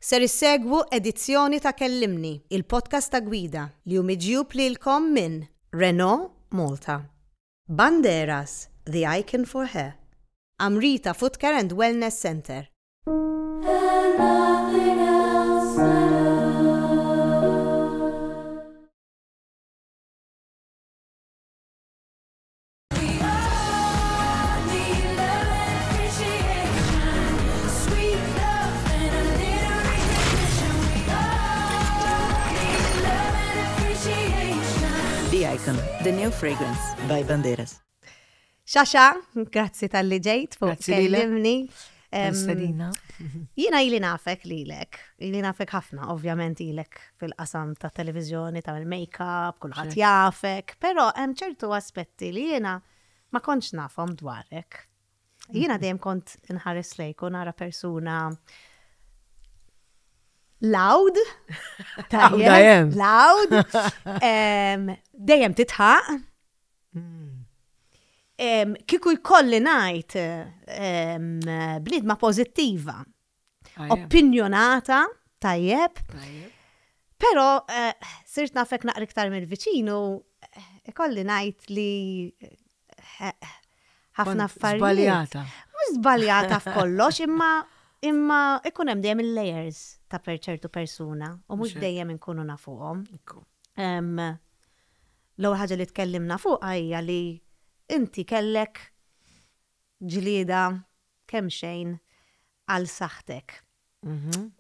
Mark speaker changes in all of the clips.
Speaker 1: Ser issegwu edizzjoni ta' Kellimni, il-podcast ta' Gwida, li hu miġjub lilkom minn Renault Malta, Banderas, the icon for hair, Amrita Footcare and Wellness Centre.
Speaker 2: And nothing else matters. We all need love and appreciation, sweet love and a little recognition. We all need love and appreciation.
Speaker 3: The Icon, the new fragrance by Banderas.
Speaker 1: Xaxa, grazzi tal-li ġejt fuq
Speaker 4: Grazzi lilek.
Speaker 1: kellimni. Em,
Speaker 4: Stedina.
Speaker 1: Jiena ili nafek lilek, ili nafek ħafna, ovvjament ilek fil-qasam ta' televizjoni, ta' il-make-up, kulħadd jafek, però hemm ċertu aspetti li jiena ma kontx nafhom dwarek. Jiena dejjem kont inħares lejk u nara persuna loud,
Speaker 4: Loud I am.
Speaker 1: loud, em, dejjem titħaq, Em, Kieku jkolli ngħid em, bniedma pożittiva, opinjonata, tajjeb, però eh, sirt nafek naqra iktar mill-viċinu, eh, ikolli ngħid li eh, ħafna affarijiet.
Speaker 4: Zbaljata.
Speaker 1: Mhux żbaljata f'kollox, imma imma ikun hemm dejjem il-layers ta' per ċertu persuna u mhux
Speaker 4: Mhux hekk.
Speaker 1: dejjem inkunu nafuhom. Em, L-ewwel ħaġa li tkellimna fuqha hija li inti kellek ġlieda kemm xejn għal saħħtek.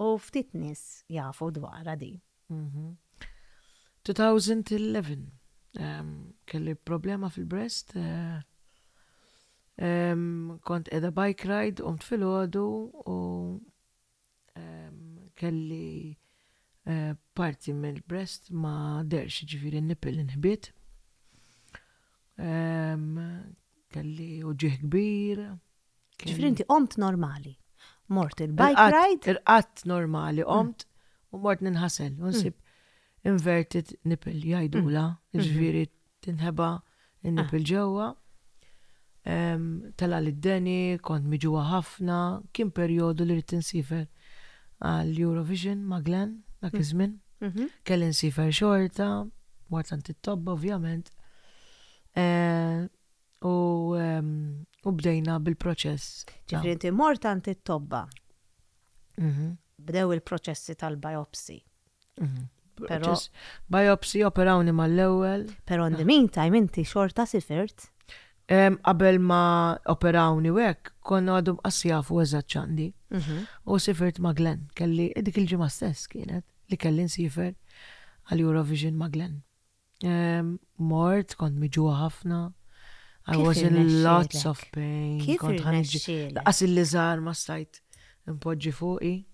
Speaker 1: U ftit nies jafu dwarha di.
Speaker 4: 2011 um, kelli problema fil-breast. eh, em, kont edha bike ride, qomt filgħodu u em, kelli eh, parti mill-breast ma derx, ġifieri nipple inħbiet. Em, kelli uġigħ kbir.
Speaker 1: Ġifieri inti qomt normali. Mort il-bike
Speaker 4: Irqadt-
Speaker 1: ride,
Speaker 4: Irqadt normali, qomt u mort ninħasel, u nsib inverted nipple jgħidula, ġifieri tinħeba il-nipple ġewwa. Em, Tela' d-deni, kont miġugħa ħafna, kien perjodu li rrid insiefer għal Eurovision ma' Glenn, dak iż-żmien. Kelli nsiefer xorta, mort għand it-tobba ovvjament. Eh, U em, u bdejna bil-proċess. ta'
Speaker 1: ġifieri inti mort għand it-tobba.
Speaker 4: Mhm.
Speaker 1: Bdew il-proċessi tal-biopsy. Però-
Speaker 4: Proċess. Biopsy operawni mal-ewwel.
Speaker 1: Però in the meantime inti xorta sifirt.
Speaker 4: Em, Qabel ma operawni u hekk, konna għadhom qas jafu eżatt x'għandi. U sifirt ma' Glenn, kelli dik il-ġimgħa stess kienet li kelli nsiefer għal Eurovision ma' Glenn. Em, Mort, kont miġugħa ħafna. I
Speaker 1: Kif
Speaker 4: was in lots
Speaker 1: irnexxielek?
Speaker 4: of pain.
Speaker 1: Kif
Speaker 4: Kont ħa niġi-
Speaker 1: irnexxielek?
Speaker 4: Lanqas il-liżar ma stajt impoġġi fuqi.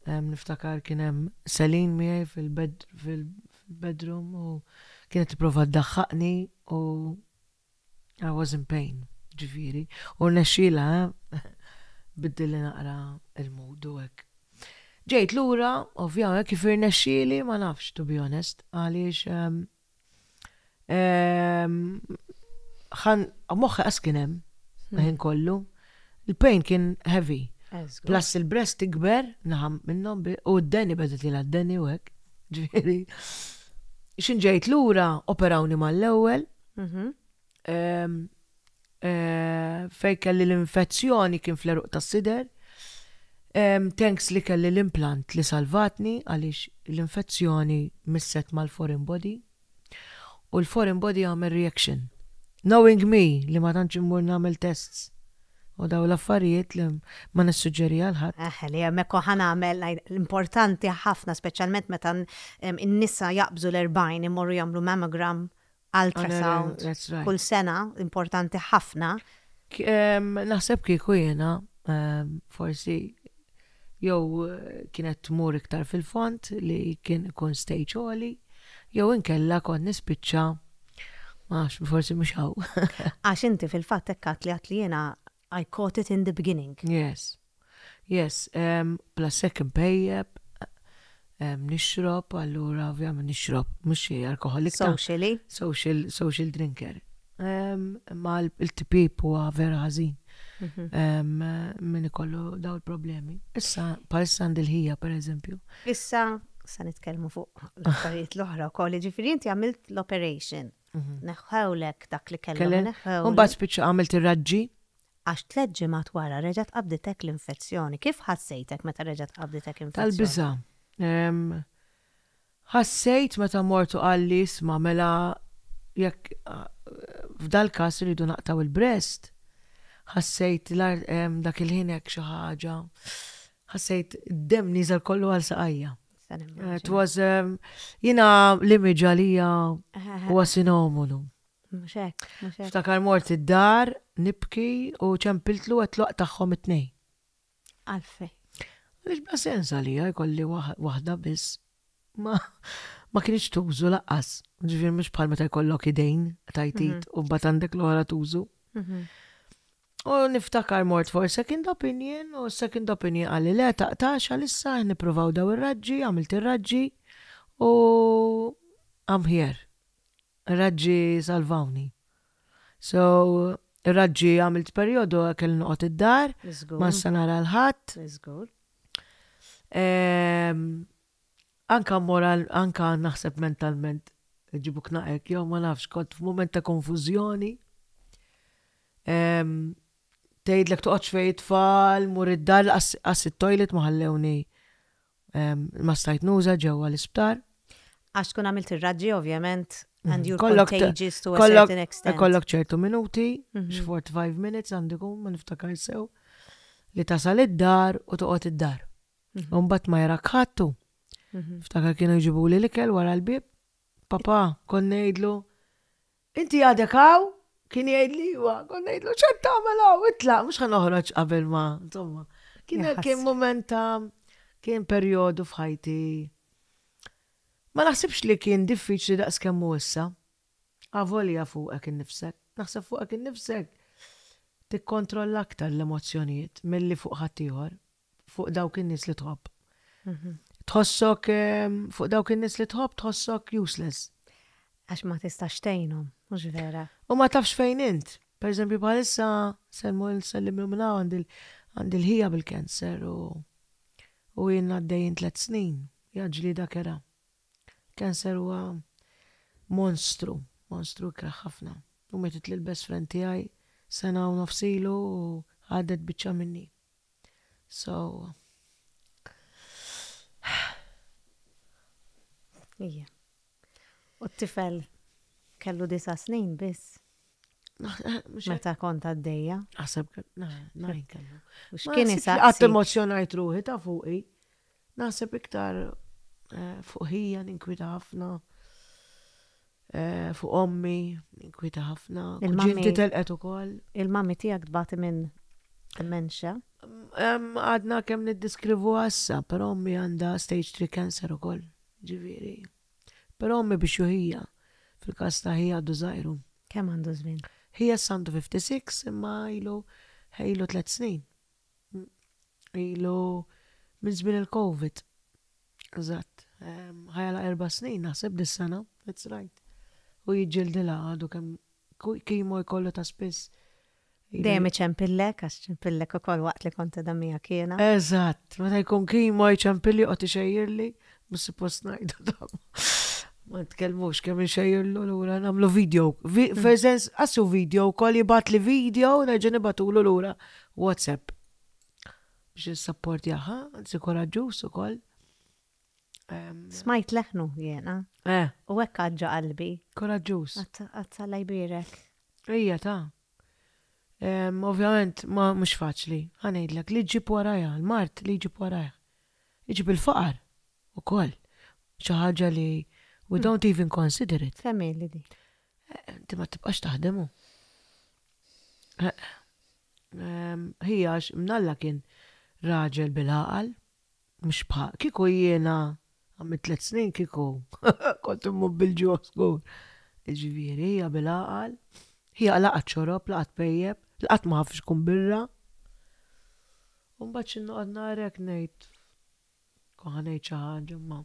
Speaker 4: Em, Niftakar kien hemm Celine miegħi fil-bed fil-bedroom u kienet tipprova ddaħħaqni u I was in pain, ġifieri. U rnexxielha, eh? Biddilli naqra il-mood u hekk. Ġejt lura, ovvjament, kif irnexxieli, ma nafx, to be honest, għaliex em, em, ħan, moħħi qas kien hemm, ħin kollu. Il-pain kien heavy. Plus il-breast tikber, naħam minnhom, bi- u d-deni beda tila d-deni u hekk. Ġifieri. Xin ġejt lura, operawni mal-ewwel, em, eh, fej kelli l-infezzjoni kien fl-għeruq tas-sider. Em, Thanks li kelli l-implant li salvatni għaliex l-infezzjoni misset mal-foreign body. U l-foreign body għamel reaction. Knowing me li ma tantx immur nagħmel tests. U daw l-affarijiet li ma nissuġġeri għal ħadd.
Speaker 1: Eh, li hemmhekk ħa nagħmel l-importanti ħafna, speċjalment meta em, in-nisa jaqbżu l-40 imorru jagħmlu mammogram, ultrasound,
Speaker 4: That's right.
Speaker 1: kull sena, importanti ħafna.
Speaker 4: K- em, Naħseb kieku jiena, em, forsi jew eh, kienet tmur iktar fil-fond li kien ikun stage għoli, jew inkella kont nispiċċa, ma nafx, forsi mhux hawn.
Speaker 1: Għax inti fil-fatt hekk li għat li jiena I caught it in the beginning.
Speaker 4: Yes. Yes, um, plus hekk impejjep, um, nixrob, allura ovvjament nixrob, mhux xi alkoholik ta'
Speaker 1: Socially.
Speaker 4: social, social drinker. Um, ma l-tipjip huwa vera ħażin. Min ikollu daw il-problemi. Issa, palissa għandi l-ħija, per eżempju.
Speaker 1: Issa, sa nitkellmu fuq l-affarijiet l-oħra wkoll, ġifieri inti għamilt l-operation. Neħħewlek dak li kellhom neħħew.
Speaker 4: Mbagħad spiċċa għamilt ir-raġġi.
Speaker 1: Għax tlett ġimgħat wara reġgħet qabditek l-infezzjoni. Kif ħassejtek meta reġgħet qabditek infezzjoni?
Speaker 4: Tal-biża'. Ħassejt meta mort u qalli isma' mela jekk f'dal-każ irridu naqtgħu il-breast, ħassejt dak il-ħin hekk xi ħaġa, ħassejt id-demm nieżel kollu għal saqajja. It was, jiena l-image għalija huwa sinomonu.
Speaker 1: Mhux hekk, mhux hekk.
Speaker 4: Ftakar mort id-dar nibki u ċempiltlu għedtlu aqtagħhom it-tnejn.
Speaker 1: Għalfejn?
Speaker 4: Għaliex bla sens għalija jkolli waħda biss. Ma ma kienx tużu laqqas. Ġifieri mhux bħal meta jkollok idejn tajtit mhm. u mbagħad għandek l-oħra tużu. Mhm. U niftakar mort for second opinion u second opinion għalli le taqtax għalissa nippruvaw daw ir-raġġi, għamilt ir-raġġi u I'm here. Raġġi salvawni. So, raġġi għamilt perjodu kelli noqgħod id-dar, ma nista' nara l-ħadd. Ehm, anka moral, anka naħseb mentalment ġibuk naqek, jew ma nafx, kont f'mument ta' konfużjoni. Ehm, tgħidlek toqgħodx fejn it-tfal, mur id-dar, qas it-toilet ma ħallewni ma stajt nuża ġewwa l-isptar.
Speaker 1: Għax tkun għamilt ir-raġġi ovvjament and you're contagious to a certain extent.
Speaker 4: Kollok ċertu minuti, 45 mhm. minutes għandikum, ma niftakar sew, li tasal id-dar u toqgħod id-dar. Mhm. U mbagħad ma jarak ħattu. Mhm. Ftakar kienu jġibuli l-ikel wara l-bib. Papa, kont ngħidlu, Inti għadek hawn? Kien jgħidli iva, kont ngħidlu x'qed tagħmel hawn, itlaq, mhux ħa noħroġ qabel ma, insomma. Kien kien mument ta' kien perjodu f'ħajti. Ma naħsibx li kien diffiċli daqs kemm hu issa. Avolja fuqek innifsek. Naħseb fuqek innifsek tikkontrolla aktar l-emozzjonijiet milli fuq ħaddieħor. fuq dawk in-nies li tħobb. Mhm. Tħossok fuq dawk in-nies li tħobb tħossok useless.
Speaker 1: Għax ma tistax tgħinhom, mhux vera.
Speaker 4: U ma tafx fejn int. Per eżempju bħalissa selmu nsellim minn hawn għandi l-ħija bil-cancer u u jien għaddejjin tliet snin. Ja ġlieda kera. Cancer huwa monstru, monstru ikrah ħafna. U mietet lil best friend tiegħi sena u nofs ilu u ħadet biċċa minni. So.
Speaker 1: Ija. U t-tifel kellu disa snin biss. Meta kont għaddejja.
Speaker 4: Naħseb, najn kellu.
Speaker 1: U x'kien
Speaker 4: isaqsi? Qatt emozjonajt ruħi ta' fuqi. Naħseb iktar eh, fuq ħija ninkwita ħafna. Eh, fuq ommi, ninkwita ħafna. Il-mami telqet ukoll.
Speaker 1: Il-mami tiegħek tbati minn dementia?
Speaker 4: Għadna kemm niddiskrivu għassa, però ommi għandha stage 3 cancer ukoll, ġifieri. Però ommi biex juħija, fil-każ ta' ħija għadu żgħiru.
Speaker 1: Kemm għandu żmien?
Speaker 4: Ħija għandu 56 imma ilu ilu 3 snin. Ilu minn żmien il-Covid. Eżatt. Ħajala erba' snin naħseb dis-sena, that's right. U jiġġildilha għadu kemm kimo jkollu ta' spiss.
Speaker 1: Dejjem iċempillek, għax ċempillek ukoll waqt li kont qiegħda miegħek jiena.
Speaker 4: Eżatt, meta jkun kimo jċempilli joqgħod ixejjirli, mhux suppost ngħidu dan. Ma nitkellmux kemm inxejjirlu lura nagħmlu video. Fil-sens, qassu video wkoll jibgħatli video nerġa' nibgħatulu lura WhatsApp. Biex nissapportjaha, anzi koraġġuż ukoll.
Speaker 1: Smajt leħnu jiena.
Speaker 4: Eh.
Speaker 1: U hekk għadġa qalbi.
Speaker 4: Koraġġuż.
Speaker 1: Għazzalla jbierek.
Speaker 4: Ejja ta. Ovvjament ma mhux faċli, ħa ngħidlek li ġġib warajha, l-mard li jġib warajh. Iġib il-faqar ukoll. Xi ħaġa li we don't even consider it.
Speaker 1: Kemm ili di?
Speaker 4: Eh, inti ma tibqax taħdem hu. Eh, Ħija għax mnalla kien raġel bil-għaqal, mhux bħal kieku jiena għamilt tliet snin kieku kont immut bil-ġuħ żgur. Ġifieri hija bil-għaqal, hija laqat xorob, laqat pejjep, laqat ma ħafx kun birra. U mbagħad xi noqgħod narek ngħid kont ħa ngħid xi ħaġa ma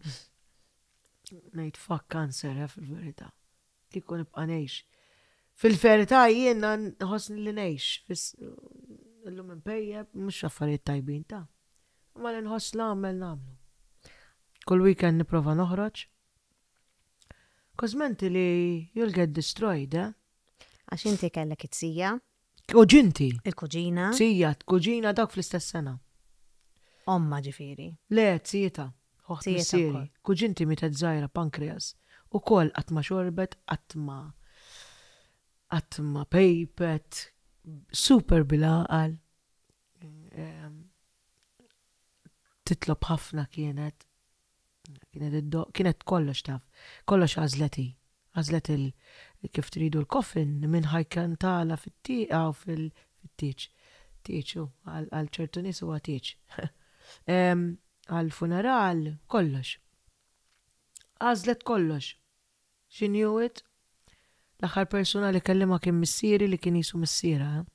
Speaker 4: ngħid fuck cancer eh, fil-verità. Kieku nibqa' ngħix. Fil-verità jiena nħossni li ngħix. Illum inpejjep, mhux affarijiet tajbin ta. Imma li nħoss nagħmel nagħmlu. Kull weekend nipprova noħroġ. Cause mentally you'll get destroyed, eh?
Speaker 1: Għax inti kellek it-sija.
Speaker 4: Kuġinti.
Speaker 1: Il-kuġina.
Speaker 4: Sija, kuġina dawk fl-istess sena.
Speaker 1: Omma ġifieri.
Speaker 4: Le, zijita. Oħt missieri. Kuġinti mietet żgħira pankreas. Ukoll qatt ma xorbet, qatt ma qatt ma pejpet, super bil-għaqal. Titlob ħafna kienet. Kienet iddoqq, kienet kollox taf. Kollox għażlet hi. Għażlet il kif tridu l-coffin, min ħa jkantala fit-tieqa u fil-tieġ. Tieġ hu, għal ċertu nies huwa tieġ. Għall-funeral, kollox. Għażlet kollox. She knew it. L-aħħar persuna li kellimha kien missieri li kien qisu missierha.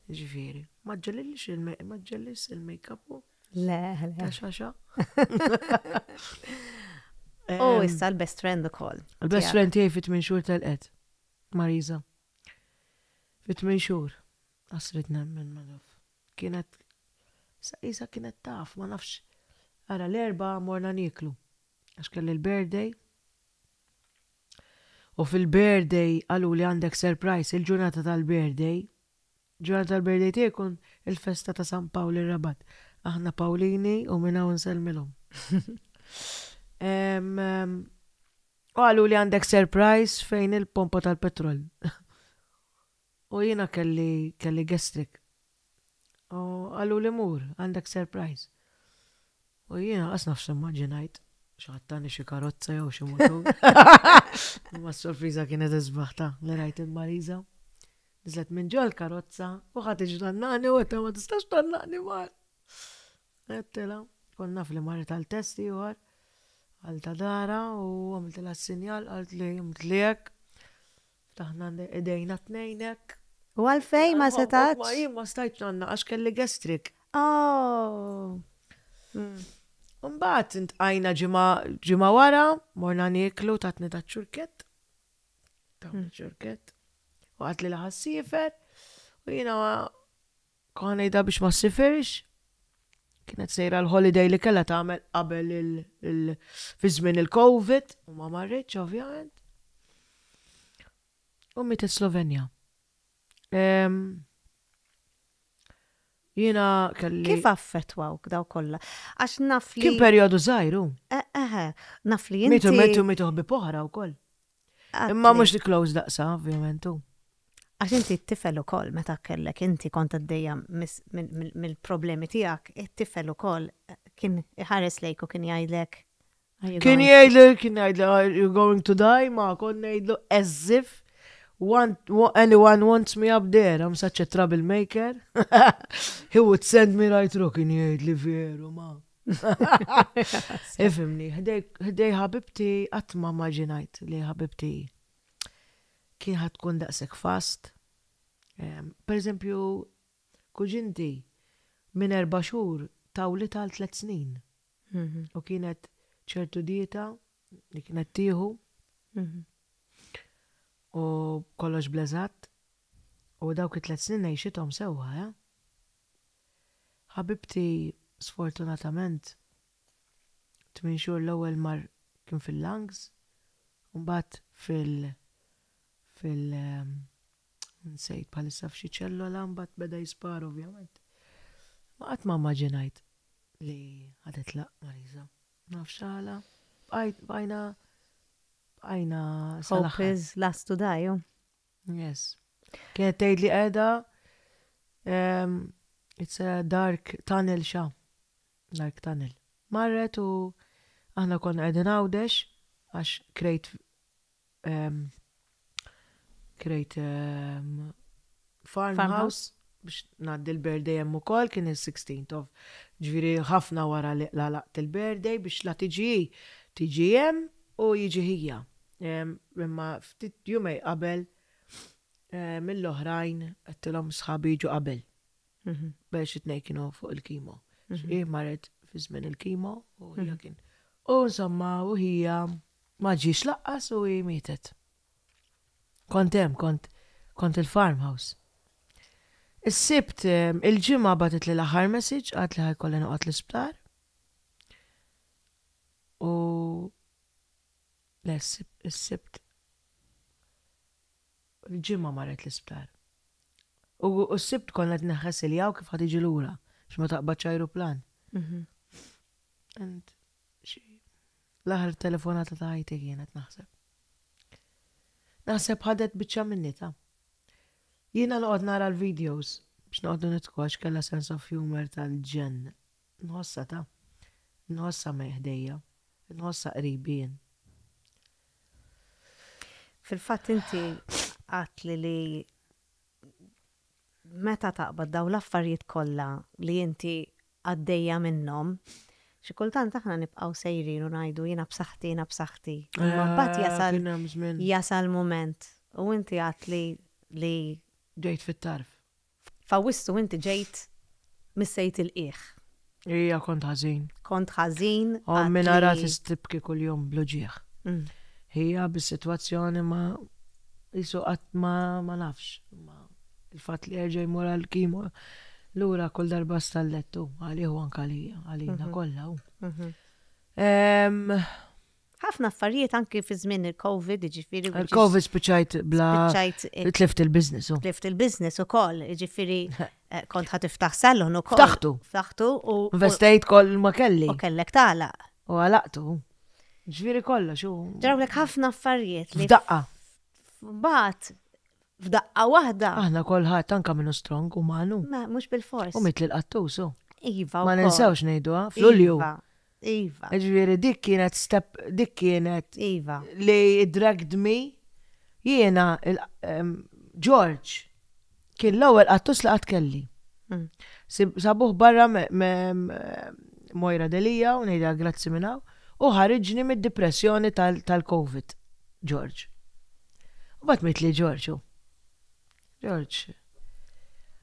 Speaker 4: Ġifieri, ma ġġellilix il ma ġġellix il-makeup u.
Speaker 1: Le, le.
Speaker 4: Ta' xaxa.
Speaker 1: U issa l-best friend ukoll.
Speaker 4: Il-best friend tiegħi fit minn xhur telqet. Marisa. Fit minn xhur. Asrid nemmen ma naf. Kienet sa kienet taf, ma nafx. Ara l-erba morna nieklu. Għax kelli l-birthday. U fil-birthday qaluli għandek surprise il-ġurnata tal-birthday. Ġurnata tal-birthday tiegħi jkun il-festa ta' San Pawl ir-Rabat. Aħna Pawlini u minn hawn insellmilhom. U qaluli għandek surprise fejn il-pompa tal-petrol. U jiena kelli kelli gastric. U qaluli mur, għandek surprise. U jiena qas nafx immaġinajt xi ħadd tani xi karozza jew xi mutur. Imma s-sorpriża kienet isbaħ ta' li rajt il-Marisa. Niżlet minn ġol karozza u ħadd iġdannani u għedtha ma tistax tgħannaqni mar. Għedtilha, kont naf li marret għal test ieħor għal ta' dara u għamiltilha s-sinjal qalt li għamilt hekk. Ftaħna idejna tnejn hekk.
Speaker 1: U għalfejn ma setax?
Speaker 4: Ma jien ma stajtx għandna għax kelli gastrik.
Speaker 1: Oh.
Speaker 4: Mbagħad intqajna ġimgħa wara, morna nieklu tatni ta' ċurkett. Ta' hmm. ċurkett. U għat li laħas sifer. U jiena Kont ngħidha biex ma ssifirx. Kienet sejra l-holiday li kellha tagħmel qabel il fi żmien il-Covid u ma marritx ovvjament. U mietet Slovenja. Jiena kelli.
Speaker 1: Kif affettwawk daw kollha? Għax naf li.
Speaker 4: Kien perjodu żgħir hu.
Speaker 1: Eħe, naf li inti.
Speaker 4: Mietu mietu mietu ħbieb oħra wkoll. Imma mhux close daqsa, ovvjament.
Speaker 1: Għax inti t-tifel ukoll meta kellek inti kont għaddejja mill-problemi tiegħek, it-tifel ukoll kien iħares lejk u kien jgħidlek.
Speaker 4: Kien jgħidli, kien jgħidli, are you going to die? Ma kont ngħidlu as if one, anyone wants me up there, I'm such a troublemaker. He would send me right through, kien jgħidli veru ma. Ifimni, ħdej ħabibti qatt ma maġinajt li ħabibti kien ħa tkun daqshekk fast. Per eżempju, kuġinti minn erba' xhur tawlitha għal tliet snin. Mhm. U kienet ċertu dieta li kienet tieħu. Mhm. U kollox bleżatt. U dawk it-tliet snin għixithom sewwa, eh? Ħabibti sfortunatament tmien xhur l-ewwel mar kien fil-lungs u mbagħad fil fil nsejt bħalissa f'xi ċellola mbagħad beda jispara ovvjament. Ma qatt ma immaġinajt li ħa titlaq Marisa. Nafx għala. Bqajt bqajna bqajna
Speaker 1: Hope is last to die.
Speaker 4: Yes. Kienet tgħid li qiegħda ehm, it's a dark tunnel xa. Dark tunnel. Marret u aħna konna qegħdin Għawdex għax krejt ehm, krejt ehm, farmhouse biex ngħaddi l-birthday hemm ukoll kien il-16th of ġifieri ħafna wara li laqt il-birthday biex la tiġi tiġi hemm u jiġi ħija. Imma ftit jumej qabel mill-oħrajn għedtilhom sħabi jiġu qabel. Mhm. Biex it-tnejn kienu fuq il-kimo. Mhm. Hi marret fi żmien il-kimo u hija mhm. kien. U insomma, u hija ma ġiex laqqas u hi mietet. Kont hemm, kont kont il-farmhouse. Is-Sibt, il-Ġimgħa bagħtitli l-aħħar message, qaltli ħa jkolli noqgħod l-isptar. U le, is-Sibt il-Ġimgħa marret l-isptar. U s-Sibt konna qed neħħesiljaw kif ħa tiġi lura biex ma taqbadx ajruplan. Mhm. And l-aħħar telefonata ta' ħajti kienet naħseb. Naħseb ħadet biċċa minni ta' Jiena noqgħod nara l-videos biex noqogħdu nidħku għax kellha sense of humour tal-ġenn. Nħossha ta. Nħossha ħdejja. Nħossha qribi jien.
Speaker 1: Fil-fatt inti għedtli li meta taqbad daw l-affarijiet kollha li inti għaddejja minnhom, xi kultant aħna nibqgħu sejrin u ngħidu jiena b'saħħti, jiena b'saħħti. Imma mbagħad jasal
Speaker 4: Kien hemm żmien
Speaker 1: jasal mument u inti għedtli li
Speaker 4: ġejt fit-tarf.
Speaker 1: F'Awwissu inti ġejt missejt il-qiegħ.
Speaker 4: Ija kont ħażin.
Speaker 1: Kont ħażin.
Speaker 4: Ommi nara tibki kuljum bl-uġigħ. Hija bis-sitwazzjoni ma jisu qatt ma ma nafx. Ma il-fatt li jerġa' jmur għal chemo lura kull darba stallettu għalih u anke għalija, għalina kollha.
Speaker 1: Ħafna affarijiet anki fi żmien il-Covid, ġifieri.
Speaker 4: Il-Covid spiċċajt bla.
Speaker 1: Spiċċajt.
Speaker 4: Tlift il-business.
Speaker 1: Tlift il-business ukoll, ġifieri kont ħa tiftaħ salon ukoll.
Speaker 4: Ftaħtu.
Speaker 1: Ftaħtu u.
Speaker 4: Investejt koll ma kelli.
Speaker 1: U kellek tagħlaq.
Speaker 4: U għalaqtu. Ġifieri kollox.
Speaker 1: Ġrawlek ħafna affarijiet.
Speaker 4: F'daqqa.
Speaker 1: Mbagħad f'daqqa waħda.
Speaker 4: Aħna kolħadd anka minnu strong u manu.
Speaker 1: Ma mhux bil-fors.
Speaker 4: U mitli l-qattus.
Speaker 1: Iva.
Speaker 4: Ma ninsewx ngħiduha, f'Lulju.
Speaker 1: Iva. Iva.
Speaker 4: Ġifieri dik kienet step, dik kienet
Speaker 1: Iva.
Speaker 4: li dragged me jiena George kien l-ewwel qattus li qatt kelli. Sabuh barra Moira Delija u ngħidha grazzi minn hawn u ħariġni mid-depressjoni tal-Covid, George. U mbagħad mitli George. George.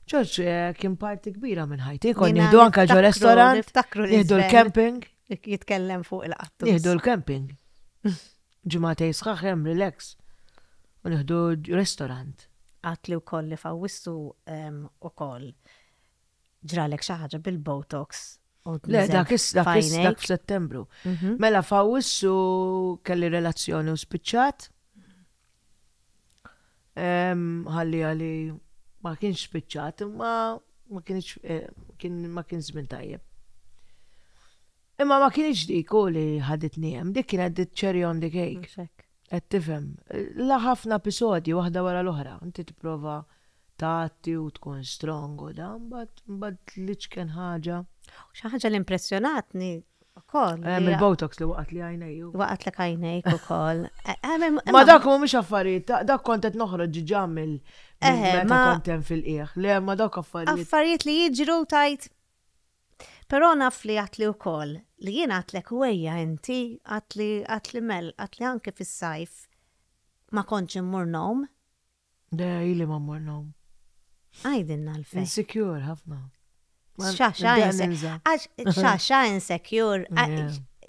Speaker 4: George kien parti kbira minn ħajti, kon nieħdu anka ġo restaurant, nieħdu l-camping.
Speaker 1: Jitkellem fuq il-qattus.
Speaker 4: Nieħdu l-camping. Ġimagħtejn sħaħ hemm relax. U nieħdu restaurant.
Speaker 1: Għedtli wkoll li f'Awwissu ukoll ġralek xi ħaġa bil-Botox.
Speaker 4: Le, dak dak dak f'Settembru. Mela f'Awwissu kelli relazzjoni u spiċċat. Ħalli għali ma kienx spiċċat, imma ma kienx kien ma kien żmien tajjeb. Imma ma kienx dik u li ħaditni hemm, dik kienet the cherry on the cake. Qed tifhem. La ħafna episodji waħda wara l-oħra. Inti tipprova tagħti u tkun strong u dan, mbagħad l-iċken ħaġa.
Speaker 1: Xi ħaġa li impressjonatni ukoll.
Speaker 4: Il-Botox li waqgħet li għajnej.
Speaker 1: Waqgħetlek għajnejk ukoll.
Speaker 4: Ma dak mhumiex affarijiet, dak kont qed noħroġ ġiġa mill meta kont hemm fil-qiegħ. Le, ma dak affarijiet.
Speaker 1: Affarijiet li jiġru tajt. Però naf li għedtli wkoll li jien għedtlek wejja inti għedtli għedtli Mel għedtli anke fis-sajf ma kontx immur ngħum.
Speaker 4: Le, ili ma mmur ngħum.
Speaker 1: Għidilna għalfejn.
Speaker 4: Insecure ħafna.
Speaker 1: Xaxa insecure.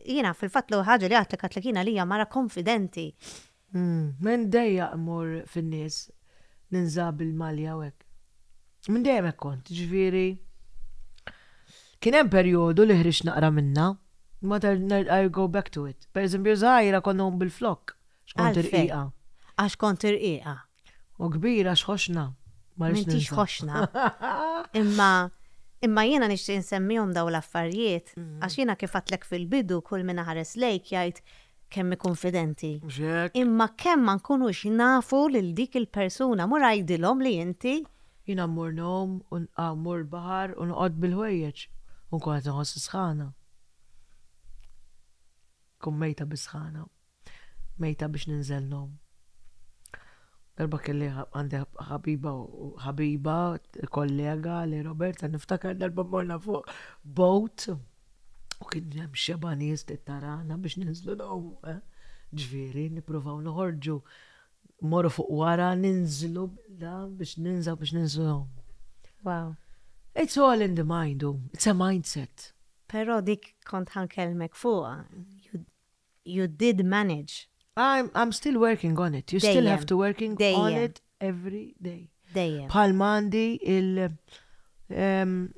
Speaker 1: Jiena fil-fatt l ħaġa li għedtlek għedtlek jiena li hija mara konfidenti.
Speaker 4: Minn dejja mmur fin-nies ninża bil-malja u hekk. Minn dejjem hekk kont, ġifieri. Kien hemm perjodu li ħriġt naqra minna, ma I go back to it. Per eżempju, żgħira kont ngħum bil-flok, x'kont irqiqa.
Speaker 1: Għax kont irqiqa.
Speaker 4: U kbira x'ħoxna.
Speaker 1: M'intix ħoxna. Imma imma jiena nixtieq insemmihom daw l-affarijiet għax jiena kif għedtlek fil-bidu kull min ħares lejk jgħid kemm konfidenti. Imma kemm ma nkunux nafu lil dik il-persuna mur għidilhom li inti
Speaker 4: Jiena mmur ngħum u mmur baħar u noqgħod bil-ħwejjeġ u nkun qed inħoss sħana. Kun mejta bis-sħana. Mejta biex ninżel ngħum. Darba kelli għandi ħabiba u ħabiba, kollega li Roberta niftakar darba morna fuq boat u kien hemm xeba nies tarana biex ninżlu ngħumu. Eh? Ġifieri, nippruvaw noħorġu morru fuq wara ninżlu da biex ninżaw biex ninżlu.
Speaker 1: Wow.
Speaker 4: It's all in the mind, it's a mindset.
Speaker 1: Però dik kont ħa nkellmek fuqha. You did manage.
Speaker 4: I'm still working on it. You still have to working on it every day.
Speaker 1: Dejjem.
Speaker 4: Bħalma għandi il-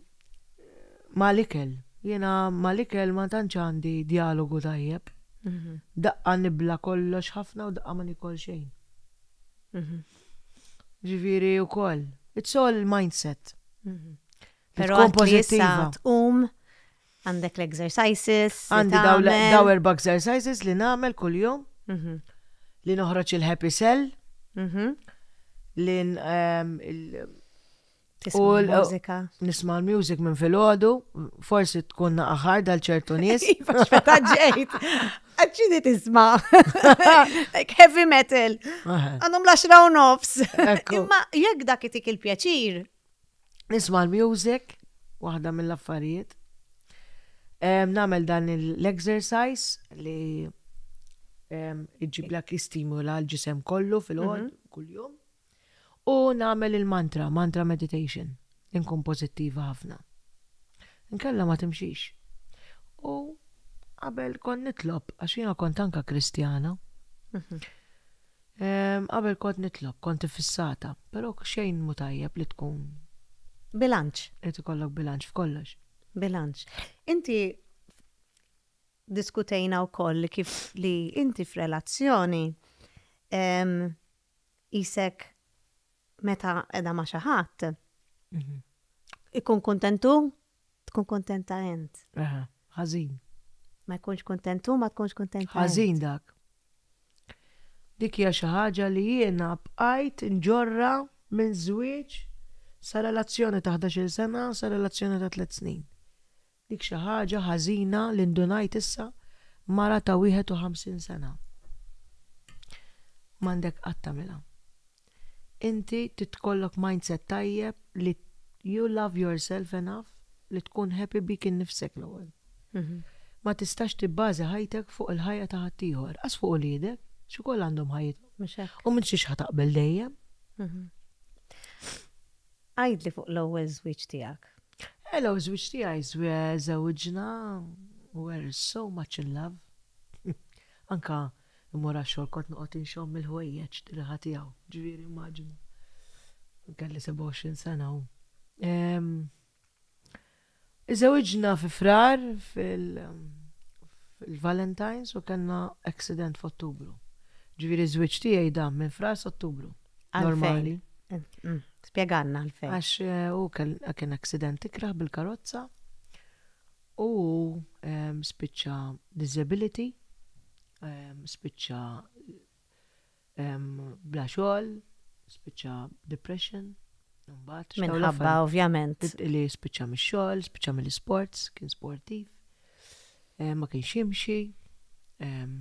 Speaker 4: mal-ikel. Jiena mal-ikel ma tantx għandi djalogu tajjeb. Daqqa nibla kollox ħafna u daqqa ma nikol xejn. Ġifieri wkoll. It's all mindset.
Speaker 1: Però
Speaker 4: Tkun
Speaker 1: għad li issa
Speaker 4: pożittiva.
Speaker 1: tqum, għandek l-exercises. li
Speaker 4: Għandi daw
Speaker 1: tagħmel.
Speaker 4: daw erba' exercises li nagħmel kuljum. Li noħroġ il-happy cell. Li n- em, il-
Speaker 1: Tisma'
Speaker 4: u l-
Speaker 1: mużika.
Speaker 4: nisma' l-music minn filgħodu, forsi tkun naqaħar dal ċertu nies.
Speaker 1: Iva, x'meta ġejt. Għadċini tisma'. Like heavy metal.
Speaker 4: Aha.
Speaker 1: Għandhom l-10 u nofs.
Speaker 4: Ekku.
Speaker 1: Imma jekk dak itik il-pjaċir,
Speaker 4: Nisma' l-music, waħda mill-affarijiet. Em, Nagħmel dan l-exercise li em, iġiblek jistimula l-ġisem kollu fil-ħod, kuljum. U nagħmel il-mantra, mantra meditation, inkun pożittiva ħafna. Inkella ma timxix. U qabel kont nitlob, għax jiena kont anka Kristjana. Em, Qabel kont nitlob, kont fissata, però xejn mu tajjeb li tkun
Speaker 1: bilanċ.
Speaker 4: li tikollok bilanċ f'kollox.
Speaker 1: Bilanċ. Inti diskutejna wkoll li kif li inti f'relazzjoni em, isek meta edha ma' xi ħadd ikun kuntentu, tkun kontenta int.
Speaker 4: Aha, Ħażin.
Speaker 1: Ma jkunx kuntentu, ma tkunx kontenta. int.
Speaker 4: Ħażin dak. Dik hija xi ħaġa li jiena bqajt nġorra minn żwieġ sa relazzjoni ta' 11-il sena sa relazzjoni ta' 3 snin. Dik xi ħaġa ħażina li ndunajt issa mara ta' 51 sena. M'għandek qatt tagħmilha. Inti titkollok mindset tajjeb li you love yourself enough li tkun happy bik innifsek l-ewwel. Ma tistax tibbażi ħajtek fuq il-ħajja ta' ħaddieħor, qas fuq uliedek, xi wkoll għandhom ħajjithom.
Speaker 1: Mhux hekk.
Speaker 4: U minn xiex ħataqbel dejjem.
Speaker 1: Għidli fuq l-ewwel żwieġ tiegħek.
Speaker 4: Hello, żwieġ tiegħi żewġna, we're so much in love. Anka immur għax-xogħol kont noqgħod inxomm il-ħwejjeġ riħa tiegħu, ġifieri immaġina. Kelli 27 sena u. Em, Iżewġna fi frar fil- fil-Valentines u kellna accident f'Ottubru. Ġifieri żwieġ tiegħi dam minn frar s'Ottubru.
Speaker 1: Għalfejn?
Speaker 4: Normali.
Speaker 1: Spjegalna għalfejn.
Speaker 4: Għax eh, u kien accident ikrah bil-karozza u em, spiċċa disability, em, spiċċa em, bla xogħol, spiċċa depression, mbagħad x'dawn
Speaker 1: Minħabba
Speaker 4: l-affarijiet.
Speaker 1: ovvjament.
Speaker 4: Li spiċċa mix-xogħol, spiċċa mill-sports, kien sportiv, eh, ma kienx jimxi. em,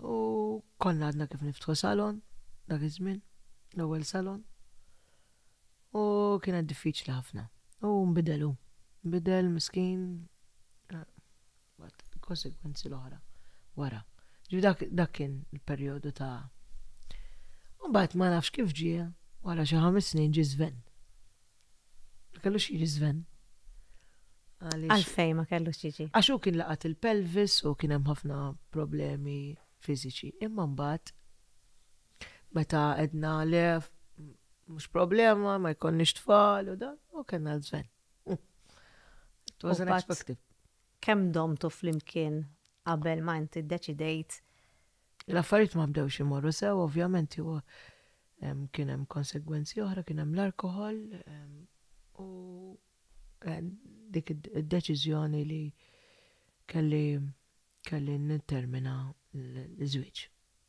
Speaker 4: U konna għadna kif niftħu salon, dak iż-żmien, l-ewwel salon. U kienet diffiċli ħafna. U nbidelu. Nbidel miskin. eh, Bat, konsekwenzi l-oħra. Wara. Ġifieri dak, dak kien il-perjodu ta' U mbagħad ma nafx kif ġie, wara xi ħames snin ġie Sven. Ma kellux jiġi Sven. Għaliex
Speaker 1: Għalfejn ma kellux jiġi.
Speaker 4: Għax hu kien laqat il-pelvis u kien hemm ħafna problemi fiżiċi. Imma mbagħad meta edna le mhux problema, ma jkollniex tfal u dan, u kellna l-Sven. It was
Speaker 1: U mbagħad-
Speaker 4: unexpected.
Speaker 1: Kemm domtu flimkien qabel ma inti ddeċidejt
Speaker 4: L-affarijiet ma bdewx imorru sew, ovvjament huwa em, kien hemm konsegwenzi oħra, kien hemm l-alkohol em, u eh, dik id-deċiżjoni li kelli kelli nittermina l-żwieġ.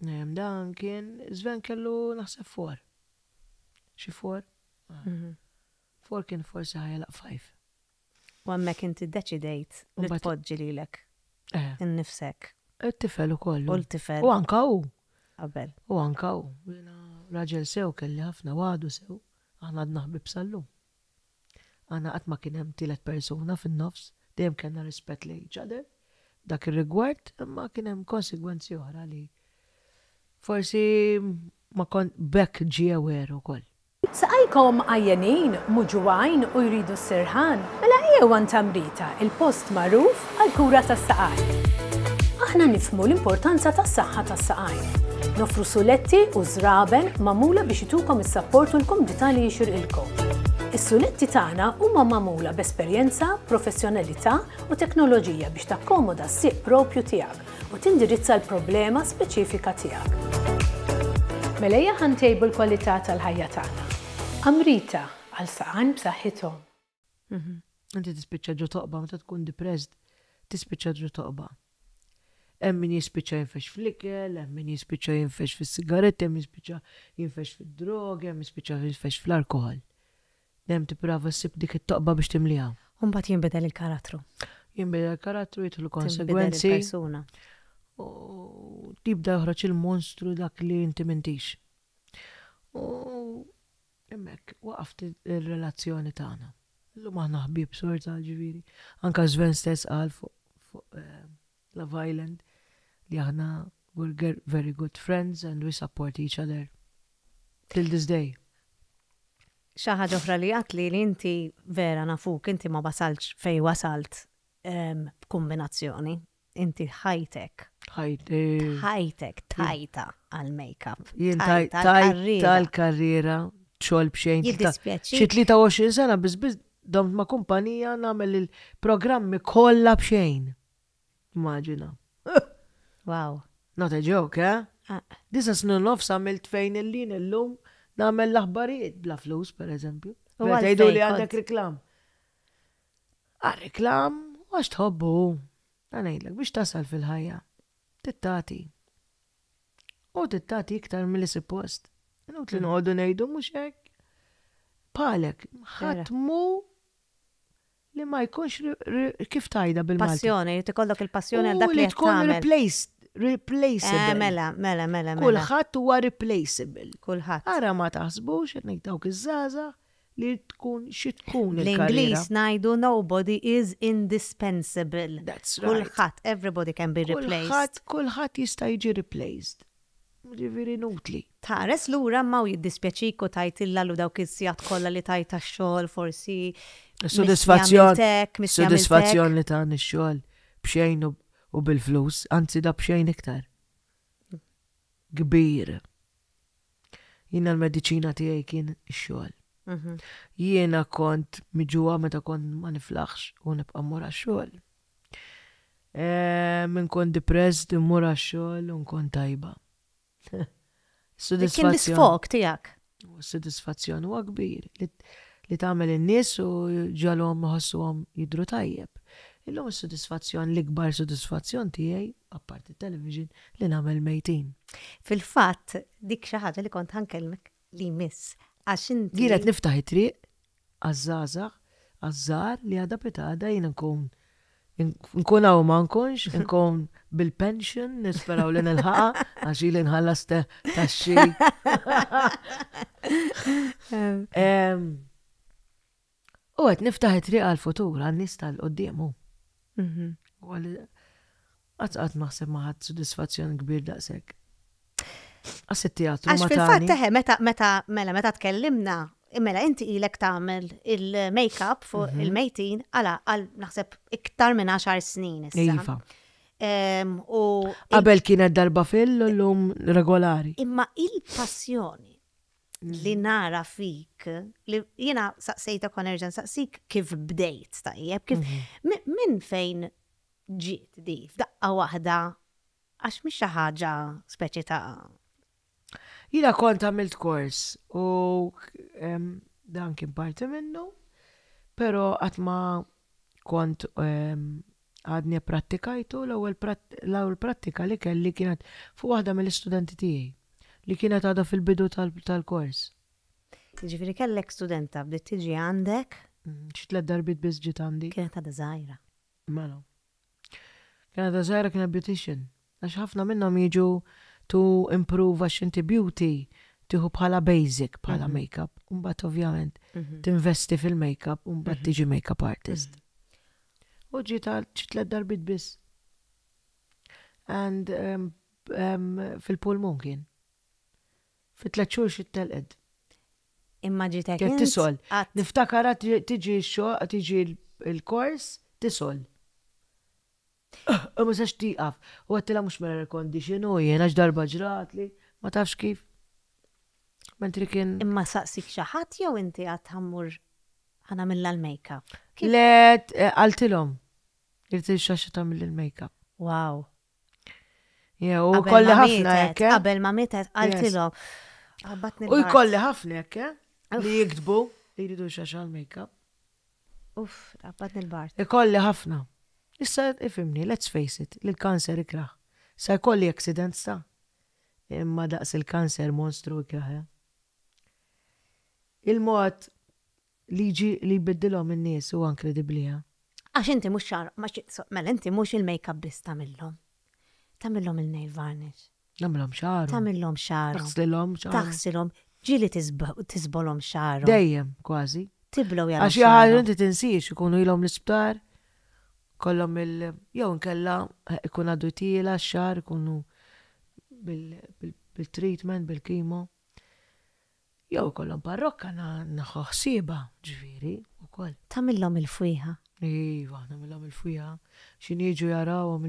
Speaker 4: Em, Dan kien Sven kellu naħseb four. Xi four? Four kien forsi ħajalaq five.
Speaker 1: u hemmhekk inti ddeċidejt li
Speaker 4: Mbagħad-
Speaker 1: tpoġġi lilek
Speaker 4: Eh,
Speaker 1: innifsek
Speaker 4: it-tifel ukoll.
Speaker 1: u l-tifel
Speaker 4: U anka hu.
Speaker 1: qabel.
Speaker 4: U anka hu. Jiena Raġel sew kelli ħafna għadu sew, aħna għadna ħbib sal-lum. Aħna qatt ma kien hemm tielet persuna fin-nofs, dejjem kellna rispett lejn each other. Dak ir-rigward, imma kien hemm konsegwenzi oħra li forsi ma kont bekk ġie aware ukoll.
Speaker 5: Saqajkom għajjenin, muġugħin u jridu s-sirħan, mela ejjew għand Tamrita, il-post magħruf għal kura tas-saqaj. Aħna nifhmu l-importanza tas-saħħa tas-saqajn. Noffru suletti u żraben magħmula biex itukom is-sapport u l-kumdità li jixirqilkom. Is-suletti tagħna huma magħmula b'esperjenza, professjonalità u teknoloġija biex takkomoda s-sieq propju tiegħek u tindirizza l-problema speċifika tiegħek. Mela ejja ħa ntejbu l-kwalità tal-ħajja tagħna. Amrita, għal saqajn b'saħħithom.
Speaker 4: Inti tispiċċa ġo toqba meta tkun depressed, tispiċċa ġo toqba. Hemm min jispiċċa jinfex fl-ikel, hemm min jispiċċa jinfex fis-sigaretti, hemm min jispiċċa jinfex fid-drogi, hemm min jispiċċa jinfex fl-alkoħol. Dejjem tipprova ssib dik it-toqba biex timliha.
Speaker 1: U mbagħad jinbidel il-karattru.
Speaker 4: Jinbidel il-karattru, jidħlu
Speaker 1: Tinbidel
Speaker 4: konsegwenzi.
Speaker 1: il-persuna.
Speaker 4: U tibda joħroġ il-monstru dak li inti m'intix. U Hemmhekk waqaft ir-relazzjoni tagħna. Illum aħna ħbieb sorta ġifieri. Anka Sven stess qal fuq fuq eh, Love Island li aħna we're very good friends and we support each other till this day.
Speaker 1: Xi ħaġa oħra li għatli li inti vera nafuk, inti ma wasaltx fej wasalt ehm, b'kombinazzjoni. Inti ħajtek.
Speaker 4: Ħajti.
Speaker 1: Ħajtek tajta għal-makeup.
Speaker 4: Jien tajta l-karriera xogħol b'xejn.
Speaker 1: Jiddispjaċi.
Speaker 4: Xi 23 sena biss biss domt ma' kumpanija nagħmel il-programmi kollha b'xejn. Immaġina.
Speaker 1: Wow.
Speaker 4: Not a joke, eh?
Speaker 1: Ah.
Speaker 4: Disa snin nofs għamilt fejn illin illum nagħmel l-aħbarijiet bla flus, per eżempju.
Speaker 1: U għalfejn
Speaker 4: Tgħidu li
Speaker 1: kont-
Speaker 4: għandek reklam. Għal-reklam, għax tħobbu. Ngħidlek biex tasal fil-ħajja. Tittati. U tittati iktar milli suppost. Inutli noqogħdu ngħidu mhux hekk. Palek, ħadd mu li ma jkunx kif tajda bil-Malti.
Speaker 1: Passjoni, jrid ikollok il-passjoni għal dak li
Speaker 4: li tkun
Speaker 1: tagħmel.
Speaker 4: replaced, replaceable.
Speaker 1: Eh, mela, mela, mela, mela.
Speaker 4: Kulħadd huwa replaceable.
Speaker 1: Kulħadd.
Speaker 4: Ara ma taħsbux qed ngħid dawk iż-żgħażagħ li tkun xi tkun il-karriera.
Speaker 1: Bl-Ingliż ngħidu nobody is indispensable.
Speaker 4: That's right.
Speaker 1: Kulħadd, everybody can be replaced.
Speaker 4: Kulħadd kulħadd jista' jiġi replaced. Ġifieri inutli.
Speaker 1: Tħares lura ma u jiddispjaċik u tajt illa dawk is-sigħat kollha li tajt tax-xogħol forsi.
Speaker 4: Sodisfazzjon.
Speaker 1: Sodisfazzjon.
Speaker 4: Sodisfazzjon li ta' ix-xogħol b'xejn u bil-flus, anzi da b'xejn iktar. Kbir. Jiena l-mediċina tiegħi kien ix-xogħol. Jiena kont miġuha meta kont ma niflaħx u nibqa' mmur għax-xogħol. Min kont depressed immur għax-xogħol u nkun tajba.
Speaker 1: Kien l-isfog tiegħek.
Speaker 4: Sodisfazzjon huwa kbir li tagħmel in-nies u ġalhom iħossuhom jidhru tajjeb. Illum is-sodisfazzjon l-ikbar sodisfazzjon tiegħi, apparti television, li nagħmel mejtin.
Speaker 1: Fil-fatt, dik xi ħaġa li kont ħankellmek li miss. Għax inti.
Speaker 4: Jien qed niftaħ it-triq għaż-żgħażagħ, għaż-żgħar li għada pitada jien nkun nkun hawn ma nkunx, nkun bil-pension, nisperaw li nilħaqha, għax ili nħallas taxxi. U qed niftaħ it-triq għall-futur, għan-nies tal-qudiem hu. U Qatt qatt naħseb ma ħadd sodisfazzjon kbir daqshekk. Għas it-teatru
Speaker 1: Għax
Speaker 4: ma
Speaker 1: fil-fatt
Speaker 4: tani.
Speaker 1: teħe, meta, meta, mela, meta tkellimna, mela, inti ilek tagħmel il-make-up fuq il-mejtin, għala, għal naħseb iktar minn 10 snin issa.
Speaker 4: Iva.
Speaker 1: U
Speaker 4: Qabel kienet darba fil u llum regolari.
Speaker 1: imma il-passjoni li nara fik, li jiena saqsejtek u nerġa' nsaqsik kif bdejt tajjeb, kif minn fejn ġiet di f'daqqa waħda għax mhix xi ħaġa speċi ta'
Speaker 4: Jiena kont għamilt kors u dan kien parti minnu, pero qatt ma kont għadni prattikajtu l-ewwel prattika li kelli kienet fuq waħda mill-istudenti tiegħi li kienet għadha fil-bidu tal-kors.
Speaker 1: Jiġifieri kellek studenta bdiet tiġi għandek?
Speaker 4: Xi tliet darbiet biss ġiet għandi.
Speaker 1: Kienet għadha żgħira.
Speaker 4: Mela. Kienet għadha żgħira kienet beautician. Għax ħafna minnhom jiġu to improve għax inti beauty tieħu bħala basic bħala makeup. U mbagħad ovvjament tinvesti fil-makeup u mbagħad tiġi makeup artist. U ġiet għal xi tliet darbiet biss. And fil-pulmun kien. Fi tliet xhur xi telqed.
Speaker 1: Imma ġitek
Speaker 4: Kien
Speaker 1: int
Speaker 4: tisol.
Speaker 1: qatt-
Speaker 4: Niftakara tiġi x-xogħol, tiġi l-kors, tisol. U ma sax tieqaf. U għedtilha mhux mela air condition u jien għax darba ġratli. Ma tafx kif. Mentri kien.
Speaker 1: Imma saqsik xi ħadd jew inti għad ħa mmur ħa nagħmilha l-makeup?
Speaker 4: Le, eh, qaltilhom. Irrid il-xaxa tagħmel il-makeup.
Speaker 1: Wow.
Speaker 4: Jew u kolli ħafna hekk. Eh?
Speaker 1: Qabel ma mietet qaltilhom.
Speaker 4: U jkolli ħafna hekk, eh? Li jiktbu li jridu xaxa l-makeup.
Speaker 1: Uff, qabadni l-bart.
Speaker 4: Ikolli ħafna. Issa ifimni, let's face it, li l-kanser ikrah. Sa jkolli accidents ta' imma daqs il-kanser monstru ikrah. Eh? Il-mod li jiġi li jbiddilhom in-nies huwa inkredibbli. Eh?
Speaker 1: Għax inti mhux xar, mela inti mhux il-make-up biss tagħmilhom. Tagħmilhom il-nail varnish.
Speaker 4: Nagħmilhom xagħarhom.
Speaker 1: Tagħmilhom xagħarhom.
Speaker 4: Taħsilhom xagħarhom.
Speaker 1: Taħsilhom. Ġieli tiżbolhom xagħarhom.
Speaker 4: Dejjem, kważi.
Speaker 1: Tiblow
Speaker 4: jagħmlu. Għax xi ħaġa inti tinsiex ikunu ilhom l-isptar, kollhom il jew inkella eh, ikun għadu tiela x-xagħar ikunu bil-treatment, bil-kimo. Jew ikollhom parrokka naħu ħsiebha, ġifieri, ukoll.
Speaker 1: Tagħmilhom il-fwieħa?
Speaker 4: Iva, nagħmilhom il-fwieħa. X'inhi jiġu jarawhom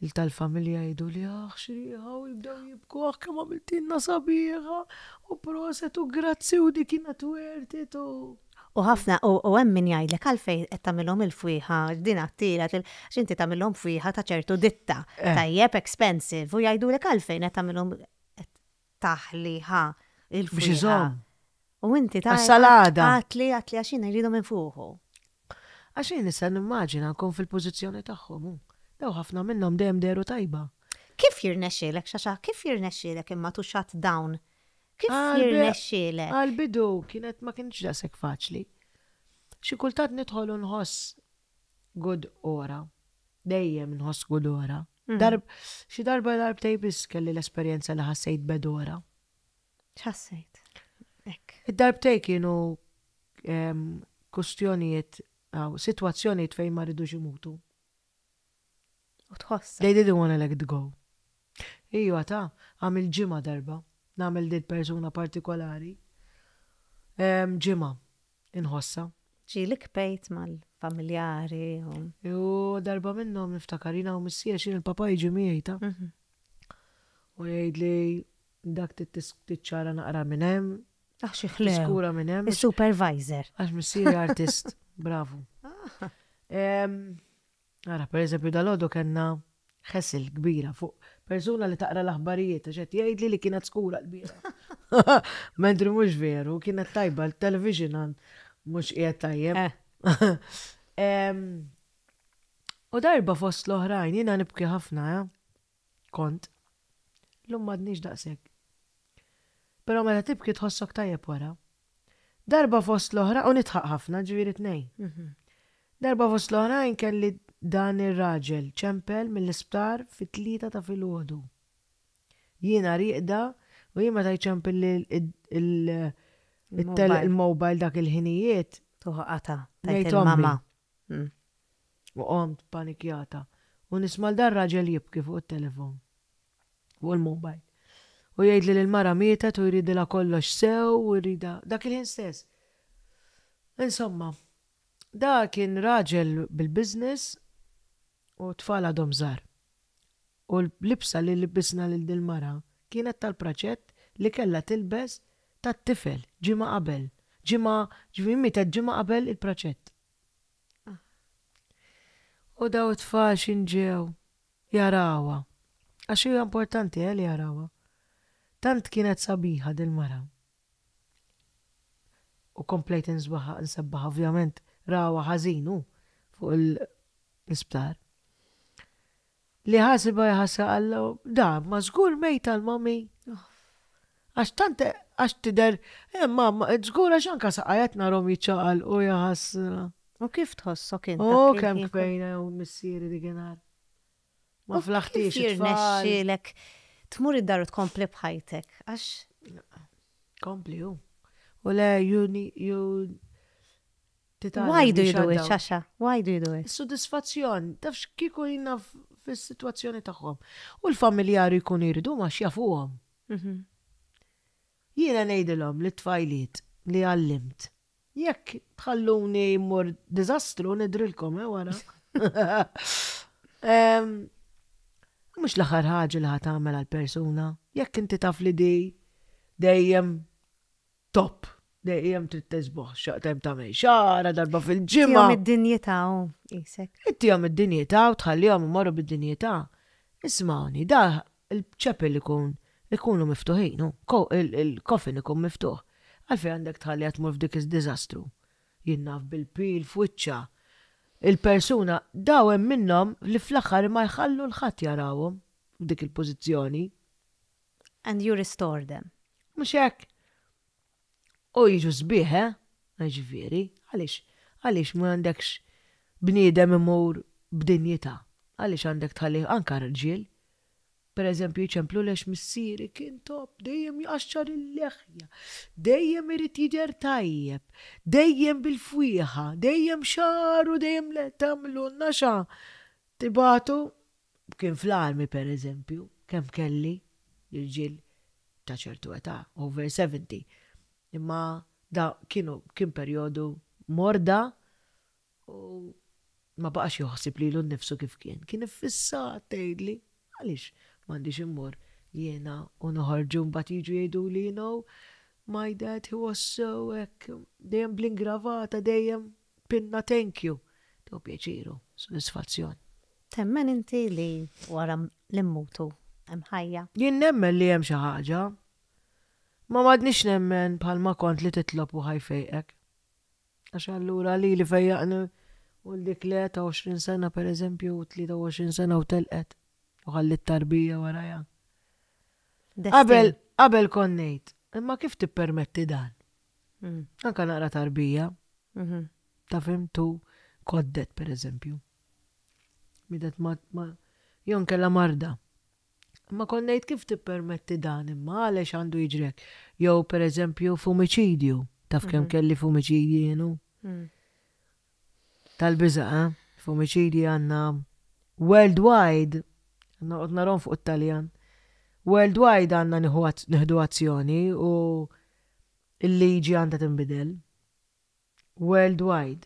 Speaker 4: il-tal-familja jgħidu li aħ x'riħa u jibdew jibku aħ kemm għamiltilna sabiħa u proset u grazzi u dik kienet worth it u.
Speaker 1: U ħafna, u hemm min jgħidlek għalfejn qed tagħmilhom il-fwieħa, din għattira, għax inti tagħmilhom fwieħa ta' ċertu ditta, tajjeb expensive, u jgħidulek għalfejn qed tagħmilhom taħli ħa il-fwieħa.
Speaker 4: Biex iżomm.
Speaker 1: U inti ta'
Speaker 4: Għas-salada.
Speaker 1: Għatli, għatli għax jiena jridu minn fuqu.
Speaker 4: Għax jien nista' nimmaġina nkun fil-pożizzjoni tagħhom. hu. Daw ħafna minnhom dejjem dehru tajba.
Speaker 1: Kif jirnexxielek, Xaxa, kif jirnexxielek imma to shut down? Kif jirnexxielek?
Speaker 4: Għal-bidu kienet ma kienx daqshekk faċli. Xi kultant nidħol u nħoss good ora. Dejjem nħoss good ora. Mm. Darb, xi darba darbtej biss kelli l-esperjenza li ħassejt bad ora.
Speaker 1: X'ħassejt? Hekk.
Speaker 4: Id-darbtej kienu kustjonijiet, sitwazzjonijiet fejn ma ridux imutu.
Speaker 1: U tħossa.
Speaker 4: They didn't wanna let it go. Ijwa ta' għamil ġimgħa darba, nagħmel dil persuna partikolari. Ġimgħa, inħossha.
Speaker 1: Ġieli kbejt mal-familjari u.
Speaker 4: U darba minnhom niftakar jiena u missieri x'in il-papa jiġi miegħi ta'. Mhm. U jgħidli dak tiċċara naqra minn hemm.
Speaker 1: Ah xi ħlew.
Speaker 4: Tiskura minn hemm.
Speaker 1: Is-supervisor.
Speaker 4: Għax missieri artist, bravu. Ah. Ara, per eżempju, dalgħodu kellna ħesil kbira fuq persuna li taqra l-aħbarijiet għax qed jgħidli li kienet skura l-bieraħ. Mentri mhux veru, kienet tajba l-television għan mhux qiegħed tajjeb. Eh. U darba fost l-oħrajn jiena nibki ħafna, eh? Kont. Llum m'għadnix daqshekk. Però meta tibki tħossok tajjeb wara. Darba fost l-oħra, u nidħaq ħafna, ġifieri tnejn. Mhm. Darba fost l-oħrajn kelli dan ir-raġel ċempel mill-isptar fit-tlieta ta' filgħodu. Jiena rieqda u jien meta jċempel il-mobile dak il-ħinijiet.
Speaker 1: Tuħu qata' tajt il-mama.
Speaker 4: Mm. U qomt panikjata. U nisma' 'l dar-raġel jibki fuq it-telefon. Fuq il-mobile. U jgħidli li l-mara mietet u jridilha kollox sew u jridha dak il-ħin stess. Insomma, da kien raġel bil-business u t-tfal għadhom żgħar. U l-libsa li libbisna lil dil-mara kienet tal-praċett li kellha tilbes tat-tifel ġimgħa qabel. Ġimgħa, ġifieri mietet ġimgħa qabel il-praċett. U daw it-tfal x'in ġew jarawha. Għax hija importanti eh li jarawha. Tant kienet sabiħa dil-mara. U komplejt insbaħha, nsebbaħha ovvjament rawha ħażin hu fuq l-isptar. Li ħasibha jħassa Alla, da, ma żgur mejta l-mami. Għax tant għax tidher, eh, mamma, żgur għax anka saqajat narhom jiċċaqalqu jaħasra.
Speaker 1: U kif tħossok int?
Speaker 4: Oh, kemm kbejna u missieri dikinhar. Ma flaħtix.
Speaker 1: Kif jirnexxielek tmur id-dar u tkompli b'ħajtek? Għax.
Speaker 4: Kompli hu. U le, you, you
Speaker 1: Why do you do it, Xaxa? Why do you do it?
Speaker 4: Sodisfazzjon, tafx kieku jina fis-sitwazzjoni tagħhom. U l-familjari jkunu jridu ma xjafuhom. Mhm. Jiena ngħidilhom li tfajliet li għallimt. Jekk tħalluni mmur diżastru nidrilkom eh wara. mhux l-aħħar ħaġa li ħa tagħmel għal persuna, jekk inti taf li di dejjem top, dejjem trid tisboħ, xaqtem tagħmel xara darba fil-ġimgħa.
Speaker 1: Tihom id-dinjità u qisek.
Speaker 4: Ittihom id-dinjità u tħallihom imorru bid-dinjità. Ismagħni, da il-chapel ikun ikunu miftuħin, il-coffin ikun miftuħ. Għalfejn għandek tħalliha tmur f'dik id-diżastru? Jien naf bil-pil f'wiċċha. Il-persuna, daw hemm minnhom li fl-aħħar ma jħallu 'l ħadd jarawhom f'dik il-pożizzjoni.
Speaker 1: And you restore them.
Speaker 4: Mhux hekk? U jiġu sbieħ, eh? Ġifieri, għaliex għaliex ma għandekx bniedem imur b'dinjità? Għaliex għandek tħalli anke rġiel? Per eżempju, jċemplu lex missieri kien top, dejjem jqaxxar il-leħja, dejjem irid jidher tajjeb, dejjem bil-fwieħa, dejjem xagħru, dejjem le tagħmlu naxa. Tibagħtu kien fl-armi per eżempju, kemm kelli irġiel ta' ċertu età, over 70. Imma da kienu kien perjodu morda U ma baqax joħsib lilu nnifsu kif kien. Kien iffissat tgħidli, għaliex m'għandix immur jiena u noħorġu mbagħad jiġu jgħiduli, you know, my dad he was so hekk, dejjem bl-ingravata, dejjem pinna thank you. Tew pjaċiru, sodisfazzjon.
Speaker 1: Temmen inti li wara li mmutu hemm ħajja?
Speaker 4: Jien nemmen li hemm xi ħaġa. Ma m'għadnix nemmen bħalma kont li titlob u ħa jfejqek. Għax allura lili fejjaqni u l dik le ta' 20 sena per eżempju, 23 sena u telqet u ħallit tarbija warajha. Qabel, qabel kont ngħid, imma kif tippermetti dan? Mm. Anka naqra tarbija. Mhm. Ta' fimtu koddet per eżempju. Midet ma, ma jon kella marda. Imma kont ngħid kif tippermetti dan imma għalex għandu jiġri hekk. Jew pereżempju f'omiċidju, taf kemm mhm. kelli f'omiċidji jienu? Mm. Tal-biża', eh? F'omiċidji għandna worldwide, noqgħod narhom fuq it-Taljan. Worldwide għandna nieħdu azzjoni u l-liġi għandha tinbidel. Worldwide.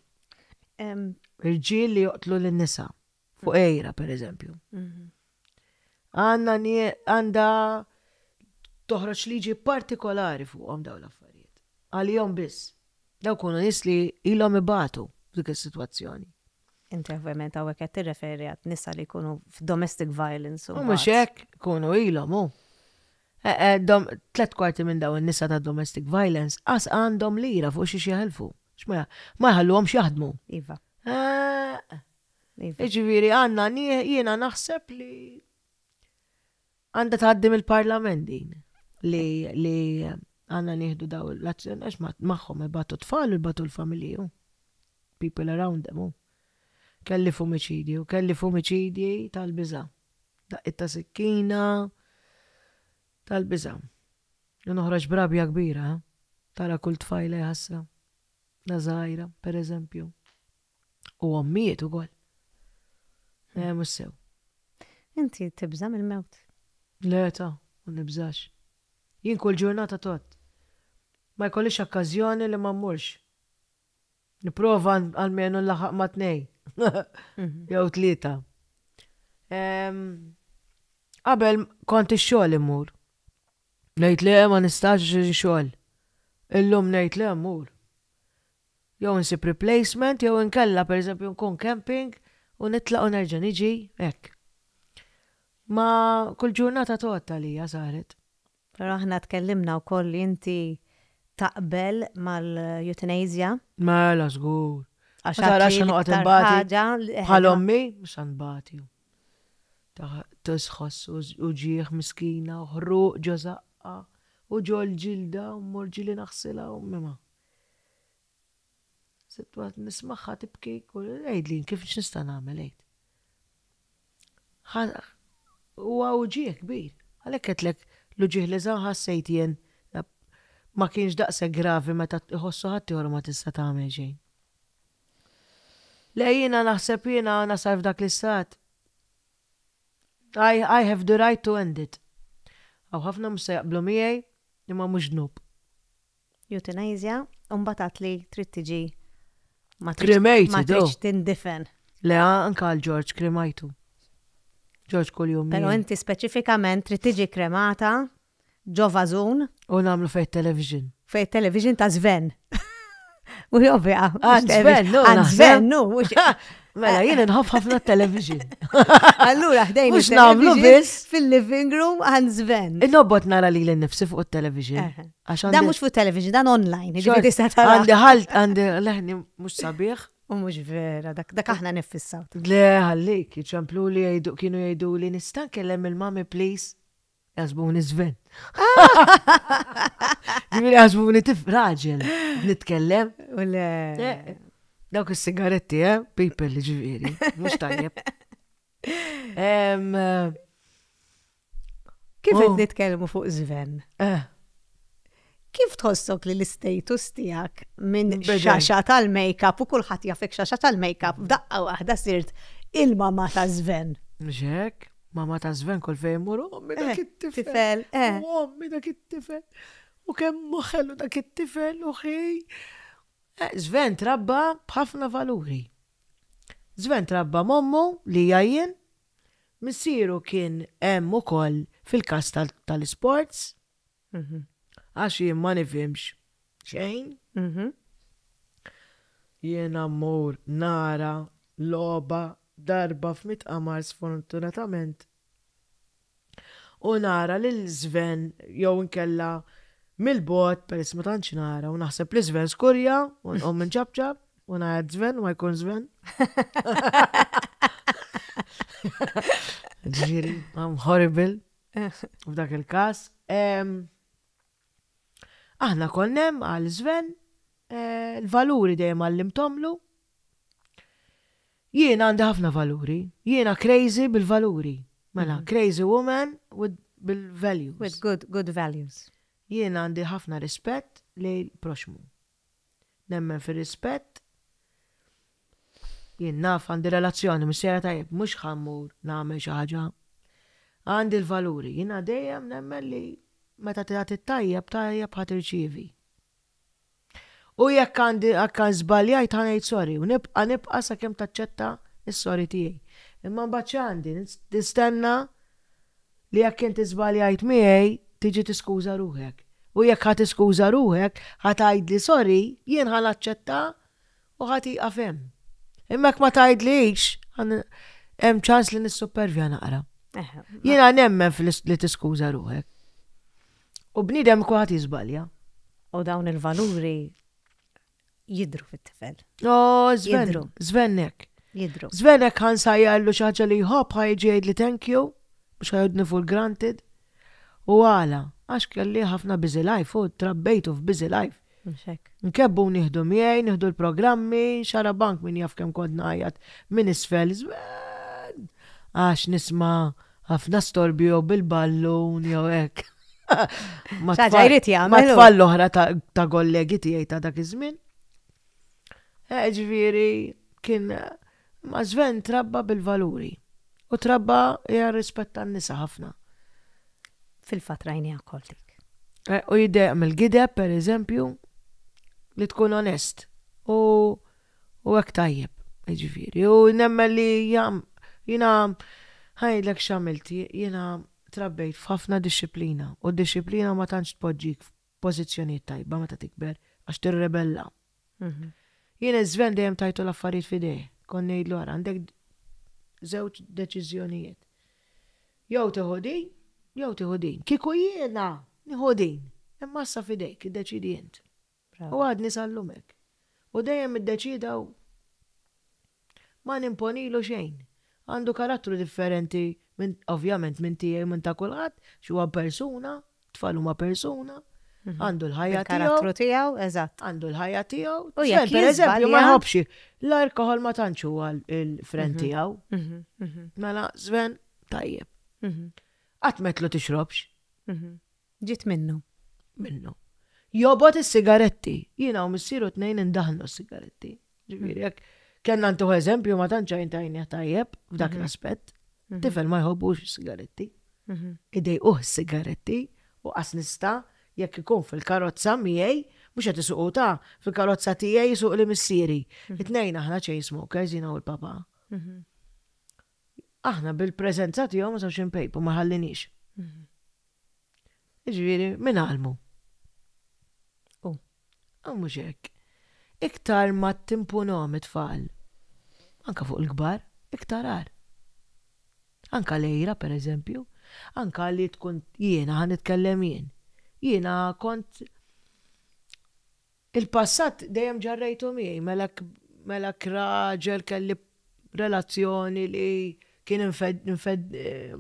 Speaker 4: Irġiel li joqtlu lin-nisa. Fuq ejra, per eżempju. Mhm. Għanna għanda toħroġ liġi partikolari fuqhom dawn l-affarijiet. Għalihom biss. Daw kunu nies li ilhom ibatu f'dik is-sitwazzjoni.
Speaker 1: Inti ovvjament hawnhekk qed tirreferi għat nisa li jkunu f'domestic violence.
Speaker 4: U mhux hekk ikunu ilhom hu. Eh, eh, tlet kwarti minn dawn in-nisa ta' domestic violence qas għandhom lira fuq xi jeħilfu. Ma jħalluhomx jaħdmu.
Speaker 1: Iva.
Speaker 4: Eh, iva. Jiġifieri għandna jiena naħseb li għandha tgħaddi mill-parlament din li li għandna nieħdu daw l-azzjoni għax magħhom ibatu tfal u jbatu l-familji. People around them. Kelli f'omiċidju, kelli f'omiċidji tal-biża'. Daqqiet ta' sikkina tal-biża'. U noħroġ b'rabja kbira, eh? Tara kull tfajla jħassra. La żgħira, per eżempju. U ommijiet ukoll. Eh, mhux sew.
Speaker 1: Inti tibża' mill-mewt?
Speaker 4: Le ta, ma nibżax. Jien kull ġurnata tot. Ma jkollix okkażjoni li ma mmurx. Nipprova almenu nlaħħaq ma' tnej. Jew tlieta. Qabel kont ix-xogħol immur. Ngħid le ma nistax xogħol. Illum ngħid le mmur. Jew insib replacement jew inkella pereżempju nkun camping u nitlaq u nerġa' niġi hekk. Ma kull ġurnata tgħodd għalija saret.
Speaker 1: Però aħna tkellimna wkoll li inti taqbel mal-euthanasia.
Speaker 4: Mela żgur. Għax tara x'ħa noqgħod inbati. Bħal ommi, mhux ħa nbati. Tisħoss uġigħ miskina u ħruq ġo żaqqa u ġol-ġilda u mmur ġieli naħsilha u ma. Sitwat nismagħha tibki, għidli kif x'nista' nagħmel għid. Huwa uġigħ kbir. Għalhekk għedtlek l-uġigħ li ħassejt jien ma kienx daqshekk gravi meta iħossu ħaddieħor ma tista' tagħmel xejn. Le jiena naħseb jiena nasal f'dak l-istat. I, I have the right to end it. Hawn ħafna mhux se jaqblu miegħi imma mhux dnub.
Speaker 1: Euthanasia, u mbagħad għad li trid tiġi ma tridx ma tridx tindifen.
Speaker 4: Le, anke għal George kremajtu. George kuljum.
Speaker 1: Però inti speċifikament trid tiġi kremata ġo vażun.
Speaker 4: U nagħmlu fejn television.
Speaker 1: Fejn television ta' Sven. Mhux ovvja.
Speaker 4: Għand Sven, no.
Speaker 1: Għand Sven, no.
Speaker 4: Mela, jien nħobb ħafna television.
Speaker 1: Allura, ħdejn.
Speaker 4: Mhux nagħmlu biss.
Speaker 1: Fil-living room għand Sven.
Speaker 4: Innobbot nara li l-nifsi fuq il-television.
Speaker 1: Dan mhux fuq television, dan online.
Speaker 4: Għandi ħalt, għandi leħni mhux sabiħ.
Speaker 1: U mhux vera, dak dak aħna niffissaw.
Speaker 4: Le, ħallik, iċemplu li jgħidu kienu jgħidu li nista' nkellem il-mami please. Jaħsbuni Sven. Ġifieri jaħsbuni tif raġel nitkellem.
Speaker 1: U le.
Speaker 4: Eh, dawk is-sigaretti, eh, people ġifieri, mhux tajjeb. Eh,
Speaker 1: Kif qed oh. nitkellmu fuq Sven?
Speaker 4: Eh.
Speaker 1: Kif tħossok li l-istatus tiegħek minn xaxa tal-makeup u kulħadd jafek xaxa tal-makeup f'daqqa waħda sirt il-mama ta' Sven?
Speaker 4: Mhux hekk, mama ta' Sven kull fejn imur, ommi dak
Speaker 1: eh,
Speaker 4: it-tifel.
Speaker 1: Tifel, eh.
Speaker 4: U ommi dak it-tifel. U kemm ħelu dak it-tifel u ħi. Eh, Sven trabba b'ħafna valuri. Sven trabba m'ommu li hija jien, missieru kien hemm ukoll fil-każ tal-isports. Għax jien ma nifhimx xejn. Jiena mmur nara logħba darba f'mitt qamar sfortunatament u nara lil Sven jew inkella mill-bogħod peress ma tantx nara u naħseb li Sven skurja u nqum inċapċap u ngħajjat Sven u ma jkun Sven. Ġifieri, I'm horrible. F'dak il-każ. Aħna konna hemm għal Sven, eh, l-valuri dejjem għallimtomlu. Jiena għandi ħafna valuri, jiena crazy bil-valuri. Mela, mhm. crazy woman with bil-values.
Speaker 1: With good, good values.
Speaker 4: Jiena għandi ħafna rispett lejn proxmu. Nemmen fir-rispett. Jien naf għandi relazzjoni missierha tajjeb, mhux ħa mmur nagħmel xi ħaġa. Għandi l-valuri. Jiena dejjem nemmen li meta tagħti t-tajjeb, tajjeb ħa tirċievi. U jekk għandi jekk żbaljajt ħa ngħid sorry u nibqa' nibqa' sakemm taċċetta s-sorry tiegħi. Imma mbagħad x'għandi? Nistenna li jekk inti żbaljajt miegħi tiġi tiskuża ruħek. U jekk ħa tiskuża ruħek, ħa tgħidli sorry, jien ħa naċċetta u ħa tieqaf hemm. Imma jekk ma tgħidlix, hemm ċans li nissuppervja naqra. Jiena nemmen li tiskuża ruħek. U bniedem kulħadd jiżbalja.
Speaker 1: U dawn il-valuri jidru fit-tifel.
Speaker 4: Oh, Sven, Svennek.
Speaker 1: Jidru.
Speaker 4: Svennek ħan sajjallu xi ħaġa li jħobb ħa jiġi jgħidli thank you, mhux ħa jgħidni for granted. U għala, għax kelli ħafna busy life u trabbejtu f'busy life. Nkebbu nieħdu miegħi, nieħdu l-programmi, xarabank min jaf kemm kont ngħajjat minn isfel, Sven! Għax nisma' ħafna storbju jew bil-ballun jew hekk. Ma tfal l-oħra ta' kollegi tiegħi ta' dak iż-żmien. Eh, ġifieri kien ma' Sven trabba bil-valuri u trabba rispett tan-nisa ħafna.
Speaker 1: Fil-fatt rajniha wkoll dik.
Speaker 4: Eh, u jiddejjaq mill-gideb, per eżempju, li tkun onest. U U hekk tajjeb, jiġifieri. U nemmen li jiena ħajdlek x'għamilt, jiena trabbejt f'ħafna dixxiplina u d-dixxiplina ma tantx tpoġġik f'pożizzjonijiet tajba meta tikber għax tirrebella. Mhm. Jien iż-żven dejjem tajtu l-affarijiet f'idejh. Kont ngħidlu ara għandek żewġ deċiżjonijiet. Jew tieħu din, jew tieħu din. Kieku jiena nieħu din, imma issa f'idejk, iddeċiedi int. U għadni sal-lum hekk. U dejjem iddeċieda hu. Ma nimponilu xejn. Għandu karattru differenti minn, ovvjament minn tiegħi u minn ta' kulħadd, għax huwa persuna, tfal huma persuna, għandu l-ħajja tiegħu.
Speaker 1: Il-karattru tiegħu, eżatt.
Speaker 4: Għandu l-ħajja tiegħu.
Speaker 1: U jekk
Speaker 4: Per eżempju, ma
Speaker 1: jiżbalja-
Speaker 4: jħobbx l-alkoħol ma tantx huwa l-friend tiegħu. Mela, Sven, tajjeb. Qatt m'għedtlu tixrobx.
Speaker 1: Ġiet minnu.
Speaker 4: Minnu. Jobgħod is-sigaretti. Jiena u missieru tnejn indaħnu s-sigaretti. Ġifieri jekk kellna ntuħ eżempju ma tantx għajn tajnieh tajjeb f'dak mhm. l-aspett. Mhm. Tifel ma jħobbux is-sigaretti. Mhm. Idejquh is-sigaretti u qas nista' jekk ikun fil-karozza miegħi, mhux qed isuqu ta' fil-karozza tiegħi jisuq li missieri. It-tnejn aħna chain smokers jiena u l-papa. Aħna bil-preżenza tiegħu ma sawx inpejpu ma ħallinix. Jiġifieri min għallmu?
Speaker 1: U.
Speaker 4: U mhux hekk. Iktar ma timpunhom it-tfal, anka fuq il-kbar, iktar agħar. Anka l-għira per eżempju, anka li tkun jiena ħa nitkellem jien. Jiena kont Il-passat dejjem ġarrejtu miegħi, mela mela raġel kelli relazzjoni li kien infed, infed, eh,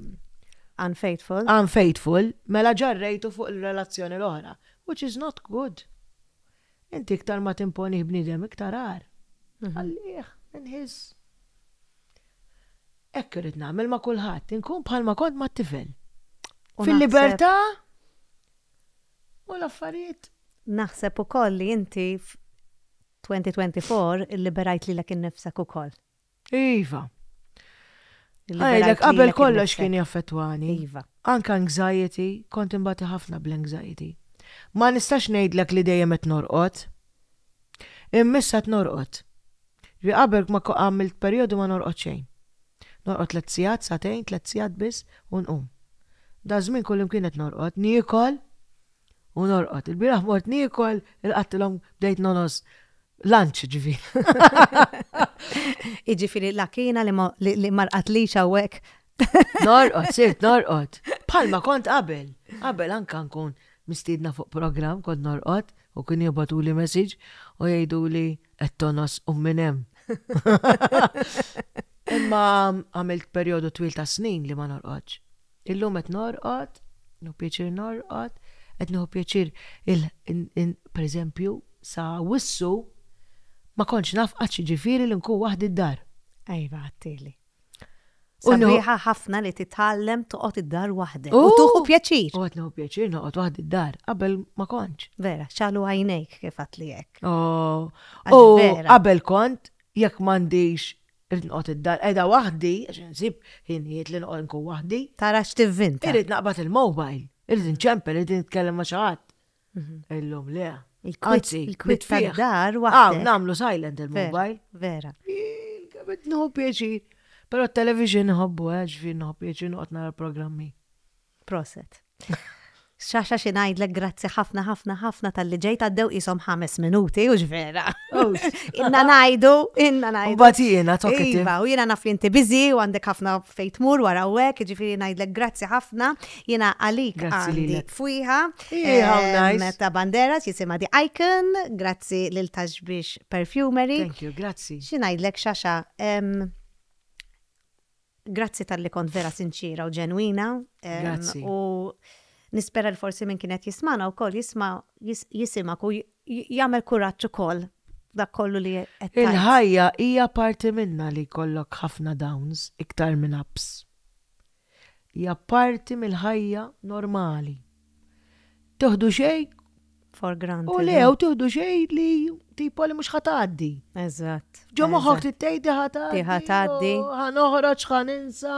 Speaker 1: Unfaithful.
Speaker 4: Unfaithful, mela ġarrejtu fuq il-relazzjoni l-oħra, which is not good. Inti iktar ma timponih bniedem iktar agħar. Mhm. Għallih, inħis. Hekk irrid nagħmel ma' kulħadd, inkun bħalma kont mat-tifel. Fil-libertà U l-affarijiet.
Speaker 1: Naħseb ukoll li inti f'2024 illiberajt lilek innifsek ukoll.
Speaker 4: Iva. Ngħidlek qabel kollox kien jaffettwani.
Speaker 1: Iva.
Speaker 4: Anke anxiety, kont inbati ħafna bl-anxiety. Ma nistax ngħidlek li dejjem qed norqod. Imma issa qed norqod. Ġifieri qabel ma għamilt perjodu ma norqod xejn. Norqod tlett sigħat, sagħtejn, tlett sigħat biss u nqum. Daż-żmien kullimkien qed norqod, niekol u norqod. Il-bieraħ mort niekol, ilqattilhom bdejt nongħos lunch ġifieri.
Speaker 1: Jiġifieri l-akina li ma rqadlix hawnhekk.
Speaker 4: Norqod, sirt norqod. Bħalma kont qabel. Qabel anka nkun mistiedna fuq programm kont norqod u kien jibgħatuli message u jgħiduli qed tongħos u minn hemm. Imma għamilt perjodu twil ta' snin li ma norqodx. Illum qed norqod, nieħu pjaċir norqod, qed nieħu pjaċir per eżempju sa wissu ma kontx naf qatt x'jiġifieri li nkun waħdi d-dar.
Speaker 1: Iva, għedtili. Sabiħa ħafna li titgħallem toqgħod id-dar waħdek. U tuħu pjaċir.
Speaker 4: U qed nieħu pjaċir noqgħod waħdi d-dar. Qabel ma kontx.
Speaker 1: Vera, xalu għajnejk kif għat li hekk.
Speaker 4: Oh. U qabel kont jekk m'għandix irrid noqgħod id-dar qiegħda waħdi għax insib ħinijiet li noqgħod nkun waħdi.
Speaker 1: Tara x'tivvinta.
Speaker 4: Irrid naqbad il-mobile, irrid inċempel, irrid nitkellem ma' xi ħadd. Mhm. Illum le.
Speaker 1: Anzi, il-kwit tad-dar waħdek.
Speaker 4: Ah, nagħmlu silent il-mobile.
Speaker 1: Vera.
Speaker 4: Kemm nieħu pjaċir. Però t-television nħobbu, eh, ġifieri nħobb pjaċir noqgħod nara programmi.
Speaker 1: Proset. Xaxa xi ngħidlek grazzi ħafna ħafna ħafna talli ġejt għaddew qishom ħames minuti u vera.
Speaker 4: Oh.
Speaker 1: Inna ngħidu, inna ngħidu.
Speaker 4: Mbagħad jiena talkative.
Speaker 1: Iva, u jiena naf li inti busy u għandek ħafna fejn tmur wara u hekk, jiġifieri ngħidlek grazzi ħafna. Jiena għalik għandi fwiħa.
Speaker 4: How nice.
Speaker 1: Ta' Banderas jisimha The Icon, grazzi lil Taxbix Perfumery.
Speaker 4: Thank you, grazzi.
Speaker 1: Xi ngħidlek Xaxa, grazzi talli kont vera sinċira u ġenwina.
Speaker 4: Grazzi.
Speaker 1: U nispera li forsi min kien qed jismana wkoll jisma' jisimak u jagħmel kuraġġ ukoll dak kollu li qed tgħid.
Speaker 4: Il-ħajja hija parti minna li jkollok ħafna downs iktar minn ups. Hija parti mill-ħajja normali. Tieħdu xejn
Speaker 1: For granted.
Speaker 4: U le, u tieħdu xejn li tipo li mhux ħa tgħaddi.
Speaker 1: Eżatt.
Speaker 4: Ġo moħħok tgħid ħa tgħaddi.
Speaker 1: Ħa tgħaddi.
Speaker 4: Ħa noħroġ, ħa ninsa.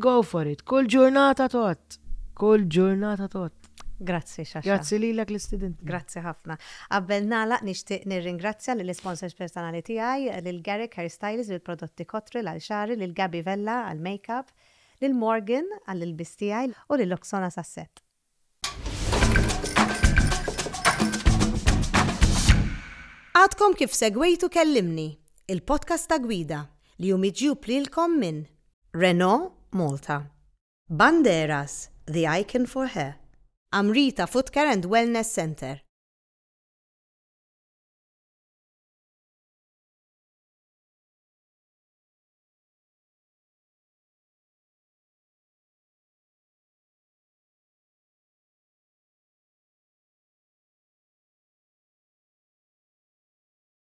Speaker 4: Go for it. Kull ġurnata tgħodd. Kull ġurnata tgħodd.
Speaker 1: Grazzi Xaxa.
Speaker 4: Grazzi lilek l-istudent.
Speaker 1: Grazzi ħafna. Qabel nagħlaq nixtieq nirringrazzja lill-isponsors personali tiegħi, lil Garrick Hairstylist bil-prodotti Cotril għal xagħri, lil Gabi Vella għall-makeup, lil Morgan għall-ilbies tiegħi u lil Oksana Sasset. Għadkom kif segwejtu Kellimni, il-podcast ta' Gwida li hu miġjub lilkom minn Renault Malta. Banderas, the icon for hair. Amrita Footcare and Wellness Centre.